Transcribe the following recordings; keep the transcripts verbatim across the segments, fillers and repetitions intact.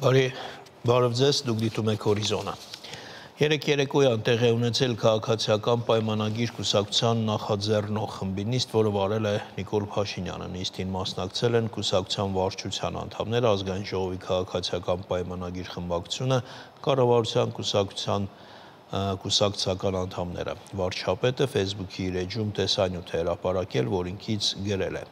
Բարի, բարև ձեզ, դուք դիտում եք Հորիզոնը։ Երեկ երեկոյան տեղի ունեցել քաղաքացիական պայմանագիր կուսակցության նախաձեռնող խմբի նիստ, որը վարել է Նիկոլ Փաշինյանը։ Նիստին մասնակցել են կուսակցության վարչության անդամներ, ազգային ժողովի քաղաքացիական պայմանագիր խմբակցությունը, կառավարության կուսակցության կուսակցական անդամները։ Վարչապետը Facebook-ի իր էջում տեսանյութ է հրապարակել, որ ինքից գրել է.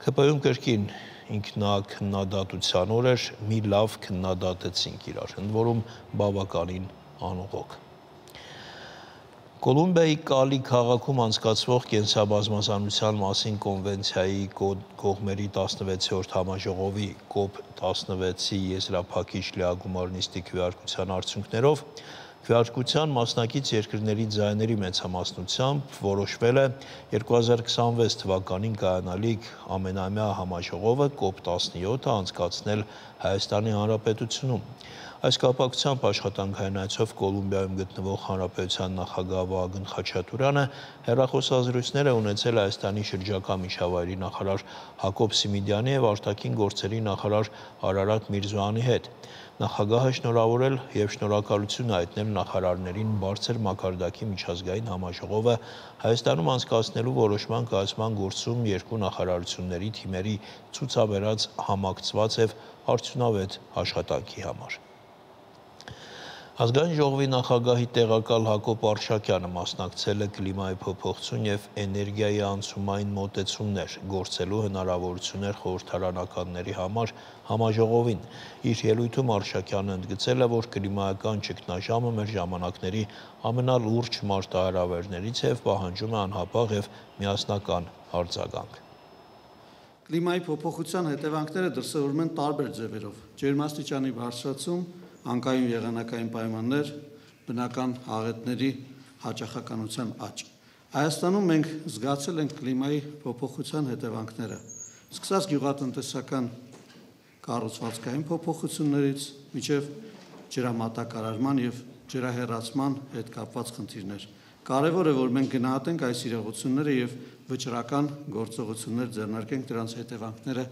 ՔՊ-ում կրկին ինքնակնդատության օր էր, մի լավ քննադատեցինք իրար, ընդ որում բավականին անողոք։ Կոլումբիայի Կալի քաղաքում անցկացվող կենսաբազմազանության մասին կոնվենցիայի կողմերի տասնվեցերորդ համաժողովի կոպ տասնվեցի եզրափակիչ լիագումար նիստի քվեարկության արդյունքներով քվեարկության մասնակից երկրների ձայների մեծամասնությամբ որոշվել է երկու հազար քսանվեց թվականին կայանալիք ամենամյա համաժողովը կոպ տասնյոթը անցկացնել Հայաստանի Հանրապետությունում։ Այս կապակցությամբ աշխատանքային այցով Կոլումբիայում գտնվող Հանրապետության նախագահ Վահագն Խաչատուրյանը հեռախոսազրույցներ է ունեցել Հայաստանի շրջակա միջավայրի նախարար Հակոբ Սիմիդյանի և արտաքին գործերի նախարար Արարատ Միրզոյանի հետ։ Նախագահը շնորհավորել և շնորհակալություն հայտնել նախարարներին բարձր մակարդակի միջազգային համաժողովը Հայաստանում անցկացնելու որոշման կայացման գործում երկու նախարարությունների թիմերի ցուցաբերած համակցված և արդյունավետ աշխատանքի համար։ Ազգային ժողովի նախագահի տեղակալ Հակոբ Արշակյանը մասնակցել է կլիմայի փոփոխություն և էներգիայի անցումային մոտեցումներ գործելու հնարավորություններ խորհրդարանականների համար համաժողովին։ Իր ելույթում Արշակյանը ընդգծել է, որ կլիմայական ճգնաժամը մեր ժամանակների ամենալուրջ մարտահրավերներից է և պահանջում է անհապաղ և միասնական արձագանք։ Կլիմայի փոփոխության հետևանքները դրսևորվում են տարբեր ձևերով՝ ջերմաստիճանի բարձրացում, անկայուն եղանակային պայմաններ, բնական աղետների հաճախականության աճ։ Հայաստանում մենք զգացել ենք կլիմայի փոփոխության հետևանքները, սկսած գյուղատնտեսական կառուցվածքային փոփոխություններից մինչև ջրամատակարարման և ջրահեռացման հետ կապված խնդիրներ։ Կարևոր է, որ մենք գնահատենք այս իրողությունները և վճռական գործողություններ ձեռնարկենք դրանց հետևանքները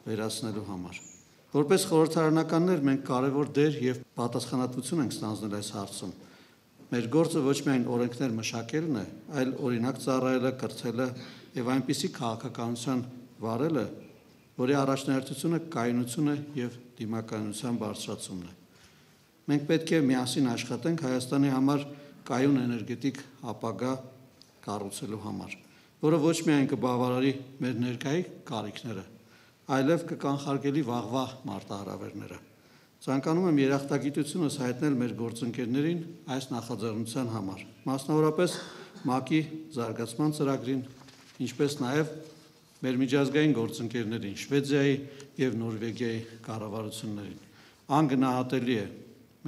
վերացնելու համար։ Որպես խորհրդարանականներ մենք կարևոր դեր և պատասխանատվություն ենք ստանձնել այս հարցում։ Մեր գործը ոչ միայն օրենքներ մշակելն է, այլ օրինակ ծառայելը, կրթելը և այնպիսի քաղաքականություն վարելը, որի առաջնահերթությունը կայունությունը և դիմակայունության բարձրացումն է։ Մենք պետք է միասին աշխատենք Հայաստանի համար կայուն էներգետիկ ապագա կառուցելու համար, որը ոչ միայն կբավարարի մեր ներկայի կարիքները, այլև կկանխարգելի վաղվա մարտահրավերները։ Ցանկանում եմ երախտագիտությունս հայտնել մեր գործընկերներին այս նախաձեռնության համար, մասնավորապես ՄԱԿ-ի զարգացման ծրագրին, ինչպես նաև մեր միջազգային գործընկերներին, Շվեդիայի և Նորվեգիայի կառավարություններին։ Անգնահատելի է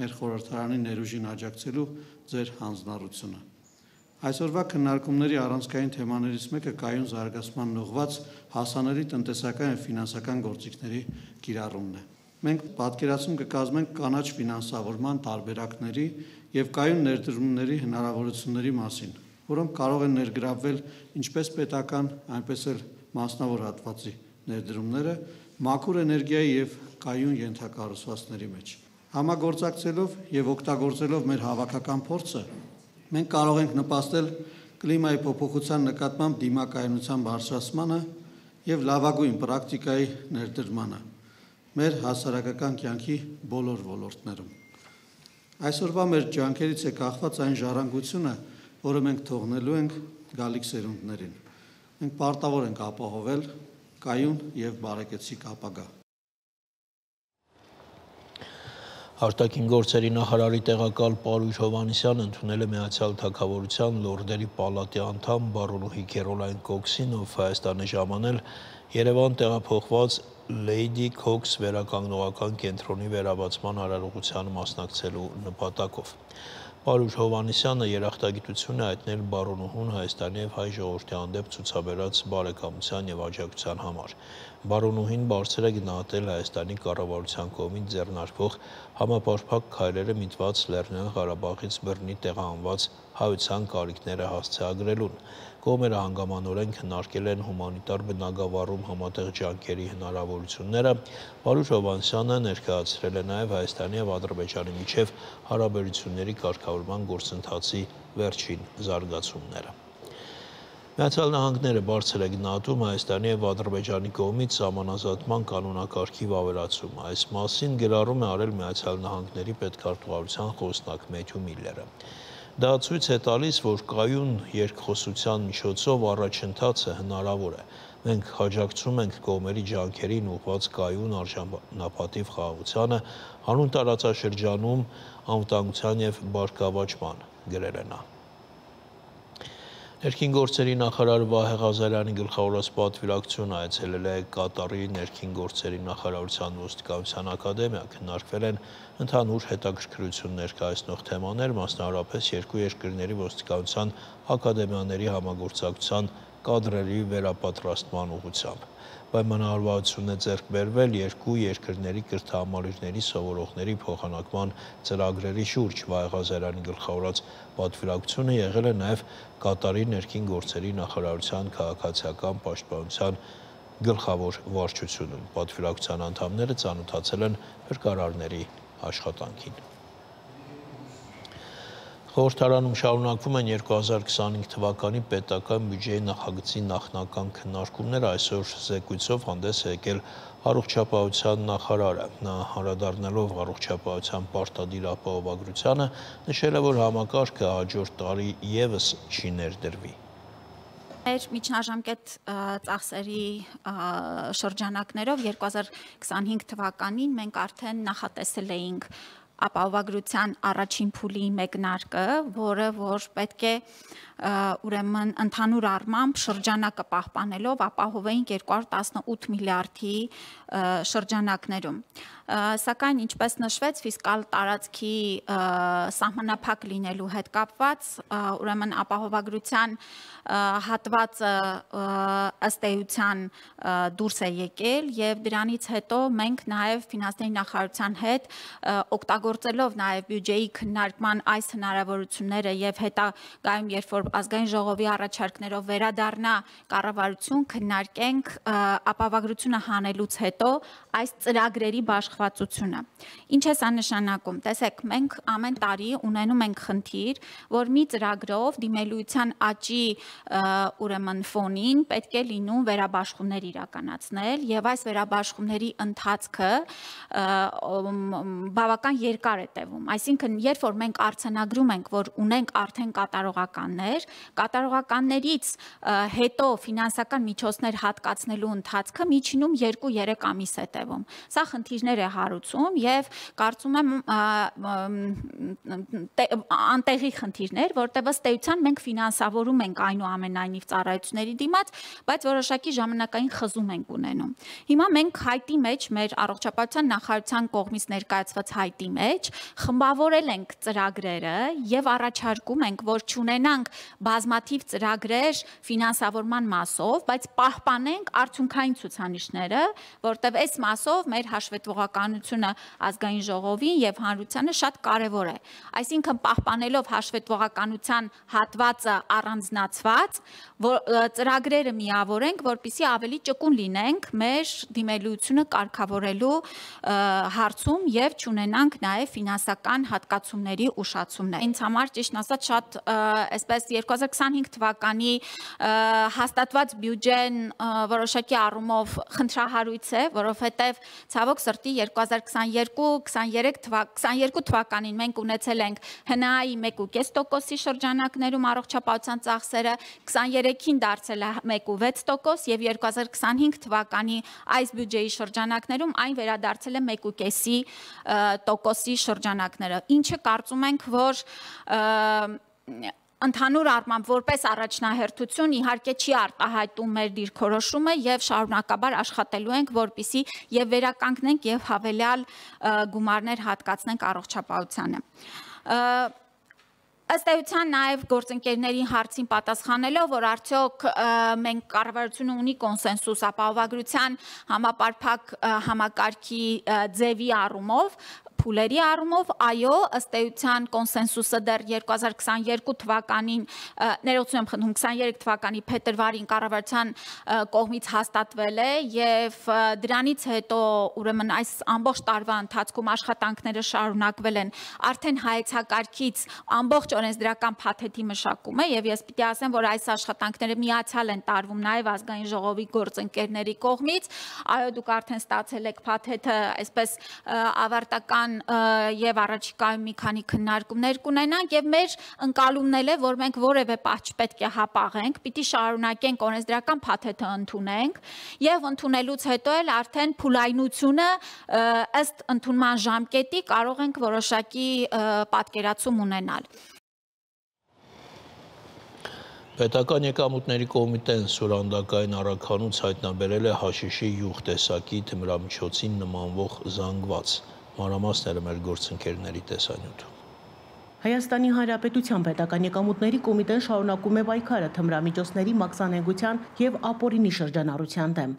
մեր խորհրդարանի ներուժին աջակցելու ձեր հանձնառությունը։ Այսօրվա քննարկումների առանցքային թեմաներից մեկը կայուն զարգացմանն ուղղված հասանելի տնտեսական և ֆինանսական գործիքների կիրառումն է։ Մենք պատկերացում կկազմենք կանաչ ֆինանսավորման տարբերակների և կայուն ներդրումների հնարավորությունների մասին, որոնք կարող են ներգրավվել ինչպես պետական, այնպես էլ մասնավոր հատվածի ներդրումները մաքուր էներգիայի և կայուն ենթակառուցվածքների մեջ։ Համագործակցելով և օգտագործելով մեր հավաքական փորձը, մենք կարող ենք նպաստել կլիմայի փոփոխության նկատմամբ դիմակայունության բարձրացմանը և լավագույն պրակտիկայի ներդրմանը մեր հասարակական կյանքի բոլոր ոլորտներում։ Այսօրվա մեր ջանքերից է կախված այն ժառանգությունը, որը մենք թողնելու ենք գալիք սերունդներին։ Մենք պարտավոր ենք ապահովել կայուն և բարեկեցիկ ապագա։ Արտաքին գործերի նախարարի տեղակալ Պարույր Հովհաննիսյանը ընդունել է Միացյալ Թագավորության Լորդերի պալատի անդամ բարոնուհի Քերոլայն Քոքսին, ով Հայաստան է ժամանել Երևան տեղափոխված Լեյդի Քոքս վերականգնողական կենտրոնի վերաբացման արարողությանը մասնակցելու նպատակով։ Պարույր Հովհաննիսյանը երախտագիտություն է հայտնել բարոնուհուն Հայաստանի և հայ ժողովրդի հանդեպ ցուցաբերած բարեկամության և աջակցության համար։ Բարոնուհին բարձր է գնահատել Հայաստանի կառավարության կողմից ձեռնարկվող համապարփակ քայլերը միտված Լեռնային Ղարաբաղից բռնի տեղահանված հայության կարիքները հասցեագրելուն։ Կողմերը հանգամանորեն քննարկել են հումանիտար բնագավառում համատեղ ջանքերի հնարավորությունները։ Վարուժ Հովհաննիսյանը ներկայացրել է նաև Հայաստանի և Ադրբեջանի միջև հարաբերությունների կարգավորման գործընթացի վերջին զարգացումները։ Միացյալ Նահանգները բարձր է գնահատում Հայաստանի և Ադրբեջանի կողմից սահմանազատման կանոնակարգի վավերացումը։ Այս մասին գրառում է արել Միացյալ Նահանգների պետքարտուղարության խոսնակ Մեթյու Միլլերը։ Դա ցույց է տալիս, որ կայուն երկխոսության միջոցով առաջընթացը հնարավոր է։ Մենք աջակցում ենք կողմերի ջանքերին ուղղված կայուն արժանապատիվ խաղաղությանը, հանուն տարածաշրջանում անվտանգության և բարգավաճման, գրել է նա։ Ներքին գործերի նախարար Վահե Ղազարյանի գլխավորած պատվիրակությունը այցելել է Կատարի ներքին գործերի նախարարության ոստիկանության ակադեմիա, քննարկվել են ընդհանուր հետաքրքրություն ներկայացնող թեմաներ, մասնավորապես երկու երկրների ոստիկանության ակադեմիաների համագործակցության կադրերի վերապատրաստման ուղղությամբ։ Պայմանավորվածություն է ձեռք բերվել երկու երկրների կրթահամալիրների սովորողների փոխանակման ծրագրերի շուրջ։ Վահե Ղազարյանի գլխավորած պատվիրակությունը եղել է նաև Կատարի ներքին գործերի նախարարության քաղաքացիական պաշտպանության գլխավոր վարչությունում։ Պատվիրակության անդամները ծանոթացել են փրկարարների աշխատանքին։ Խորհրդարանում շարունակվում են երկու հազար քսանհինգ թվականի պետական բյուջեի նախագծի նախնական քննարկումները։ Այսօր զեկույցով հանդես է եկել առողջապահության նախարարը։ Նա անդրադառնալով առողջապահության պարտադիր ապահովագրությանը նշել է, որ համակարգը հաջորդ տարի ևս չի ներդրվի։ Մեր միջնաժամկետ ծախսերի շրջանակներով երկու հազար քսանհինգ թվականին մենք արդեն նախատեսել էինք ապահովագրության առաջին փուլի մեկնարկը, որը որ պետք է ուրեմն ընդհանուր առմամբ շրջանակը պահպանելով ապահովեինք երկու հարյուր տասնութ միլիարդի շրջանակներում։ Սակայն ինչպես նշվեց, ֆիսկալ տարածքի սահմանափակ լինելու հետ կապված, ուրեմն ապահովագրության հատվածը ըստ էության դուրս է եկել եւ դրանից հետո մենք նաեւ ֆինանսների նախարարության հետ օգտագործելով նաեւ բյուջեի քննարկման այս հնարավորությունները եւ հետագայում երբ որ ազգային ժողովի առաջարկներով վերադառնա կառավարություն քննարկենք ապահովագրությունը հանելուց հետո այս ծրագրերի բաշխվածությունը։ Ինչ է սա նշանակում։ Տեսեք, մենք ամեն տարի ունենում ենք խնդիր, որ մի ծրագրով դիմելույթյան աճի ուրեմն ֆոնին պետք է լինում վերաբաշխումներ իրականացնել եւ այս վերաբաշխումների ընթացքը բավական երկար է տևում։ Այսինքն, երբ որ մենք արձանագրում ենք, որ ունենք արդեն կատարողականներ, կատարողականներից հետո ֆինանսական միջոցներ հատկացնելու ընթացքը միջինում երկու-երեք ամիս է տևում։ Սա խնդիրներ է հարուցում եւ կարծում եմ անտեղի խնդիրներ, որտեղ ըստ էության մենք ֆինանսավորում ենք այնուամենայնիվ ծառայությունների դիմաց, բայց որոշակի ժամանակային խզում ենք ունենում։ Հիմա մենք հայտի մեջ մեր առողջապահության նախարարության կողմից ներկայացված հայտի մեջ խմբավորել ենք ծրագրերը եւ առաջարկում ենք, որ չունենանք բազմաթիվ ծրագրեր ֆինանսավորման մասով, բայց պահպանենք արդյունքային ցուցանիշները, որտեղ այս մասով մեր հաշվետվողականությունը ազգային ժողովին եւ հանրությանը շատ կարեւոր է։ Այսինքն պահպանելով հաշվետվողականության հատվածը առանձնացված, որ ծրագրերը միավորենք, որպեսզի ավելի ճկուն լինենք մեր դիմելությունը կարգավորելու հարցում եւ չունենանք նաեւ ֆինանսական հատկացումների ուշացումներ։ Ինձ համար ճիշտ ասած շատ այսպես երկու հազար քսանհինգ թվականի հաստատված բյուջեն որոշակի առումով խնդրահարույց է, որովհետեւ ցավոք սրտի երկու հազար քսաներկու քսաներեք թվականին մենք ունեցել ենք ՀՆԱ-ի մեկ ու կես տոկոսի շրջանակներում առողջապահության ծախսերը, քսաներեքին դարձել է մեկ ու վեց տոկոս եւ երկու հազար քսանհինգ թվականի այս բյուջեի շրջանակներում այն վերադարձել է մեկ ու կեսի տոկոսի շրջանակները, ինչը կարծում ենք, որ ընդհանուր առմամբ որպես առաջնահերթություն իհարկե չի արտահայտում մեր դիրքորոշումը եւ շարունակաբար աշխատելու ենք, որպեսզի եւ վերականգնենք եւ հավելյալ գումարներ հատկացնենք առողջապահությանը։ Ըստ էության նաև գործընկերների հարցին պատասխանելով, որ արդյոք մենք կառավարությունը ունի կոնսենսուս ապահովագրության համապարփակ համակարգի ձևի առումով, փուլերի առումով, այո, ըստ էության կոնսենսուսը դեռ երկու հազար քսաներկու թվականին, ներողություն եմ խնդրում, քսաներեք թվականի փետրվարին կառավարության կողմից հաստատվել է եւ դրանից հետո ուրեմն այս ամբողջ տարվա ընթացքում աշխատանքները շարունակվել են արդեն հայեցակարգից ամբողջ օրենսդրական փաթեթի մշակում է եւ ես պիտի ասեմ, որ այս աշխատանքները միացյալ են տարվում նաեւ ազգային ժողովի գործընկերների կողմից, այո, դուք արդեն ստացել եք փաթեթը, այսպես ավարտական եւ առաջիկայում մի քանի քննարկումներ կունենանք եւ մեր ընկալումն է, որ մենք որևէ պահ չպետք է հապաղենք, պիտի շարունակենք օրենսդրական փաթեթը ընդունենք եւ ընդունելուց հետո էլ արդեն փուլայնությունը ըստ ընդունման ժամկետի կարող ենք որոշակի պատկերացում ունենալ։ Պետական եկամուտների կոմիտեն սուրանդակային առաքանուց հայտնաբերել է հաշիշի յուղ տեսակի թմրամիջոցին նմանվող զանգված։ Մանրամասները մեր գործընկերների տեսանյութում։ Հայաստանի Հանրապետության պետական եկամուտների կոմիտեն շարունակում է պայքարը թմրամիջոցների մաքսանենգության եւ ապօրինի շրջանառության դեմ։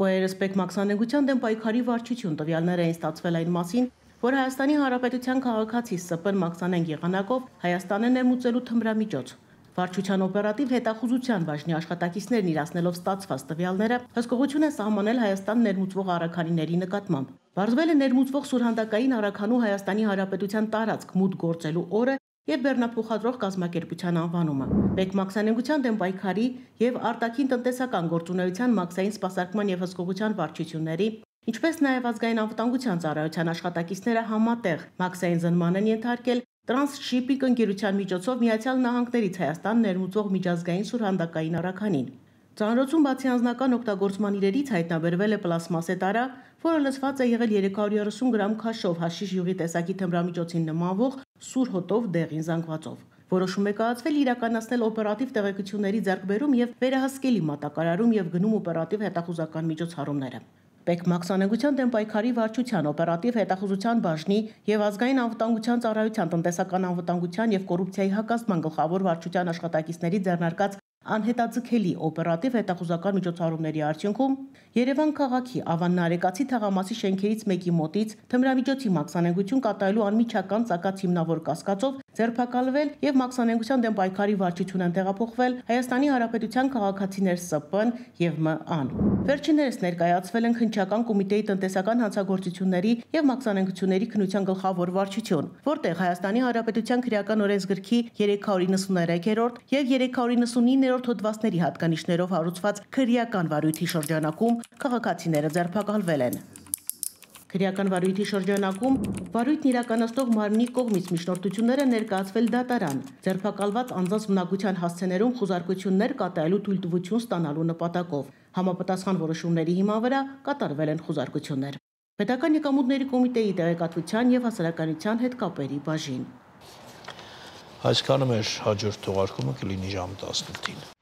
ՕԵՐՍՊԵԿ մաքսանենգության դեմ պայքարի վարչություն տվյալներ էին ստացվել այն մասին, որ Հայաստանի Հանրապետության քաղաքացի Ս Պ մաքսանենգ եղանակով Հայաստանը ներմուծելու թմրամիջոց։ Վարչության օպերատիվ հետախուզության բաժնի աշխատակիցներն իրացնելով ստացված տվյալները հսկողություն են սահմանել Հայաստան ներմուծվող առաքանիների նկատմամբ։ Բարձվել է ներմուծվող սուրհանդակային առաքանու Հայաստանի Հանրապետության տարածք մուտք գործելու օրը եւ բեռնափոխադրող կազմակերպության անվանումը։ Պետ մաքսանենգության դեմ պայքարի եւ արտաքին տնտեսական գործունեության մաքսային սպասարկման եւ հսկողության վարչությունների, ինչպես նաեւ ազգային անվտանգության ծառայության աշխատակիցները համատեղ մաքսային զնման են ենթարկել Տրանսշիպինգ ընկերության միջոցով Միացյալ Նահանգներից Հայաստան ներմուծող միջազգային սուրհանդակային առաքանին։ Ծանրոցում բացի անձնական օգտագործման իրերից հայտնաբերվել է պլաստմասե տարա, որը լցված է եղել երեք հարյուր երեսուն գրամ քաշով հաշիշ յուղի տեսակի թմրամիջոցին նմանվող սուր հոտով դեղին զանգվածով։ Որոշում է կայացվել իրականացնել օպերատիվ տեղեկությունների ձեռքբերում եւ վերահսկելի մատակարարում եւ գնում օպերատիվ հետախուզական միջոցառումները։ Պետ մաքսանենգության դեմ պայքարի վարչության օպերատիվ հետախուզության բաժնի եւ ազգային անվտանգության ծառայության տնտեսական անվտանգության եւ կոռուպցիայի հակազդման գլխավոր վարչության աշխատակիցների ձեռնարկած անհետաձգելի օպերատիվ հետախուզական միջոցառումների արդյունքում Երևան քաղաքի Ավան Նարեկացի թաղամասի շենքերից մեկի մոտից թմրամիջոցի մաքսանենգություն կատարելու անմիջական ծակած հիմնավոր կասկածով ձերբակալվել եւ մաքսանենգության դեմ պայքարի վարչություն են տեղափոխվել Հայաստանի Հանրապետության քաղաքացիներ Ս Պ-ն եւ Մ Ան։ Վերջիններս ներկայացվել են քննչական կոմիտեի տնտեսական հանցագործությունների եւ մաքսանենգությունների քննության գլխավոր վարչություն, որտեղ Հայաստանի Հանրապետության քրեական օրենսգրքի երեք հարյուր իննսուներեքերորդ եւ երեք հարյուր իննսունիններորդ հոդվածների հատկանիշներով հարուցված քրեական վարույթի շրջանակում քաղաքացիները ձերբակալվել են։ Քրեական վարույթի շրջանակում վարույթն իրականացնող մարմնի կողմից միջնորդությունները ներկայացվել դատարան, ձերբակալված անձանց բնակության հասցեներում խուզարկություններ կատարելու թույլտվություն ստանալու նպատակով։ Համապատասխան որոշումների հիման վրա կատարվել են խուզարկություններ։ Պետական եկամուտների կոմիտեի տեղեկատվության եւ հասարակայնության հետ կապերի բաժին։ Այսքանը մեր հաջորդ թողարկումը կլինի ժամը տասնութին։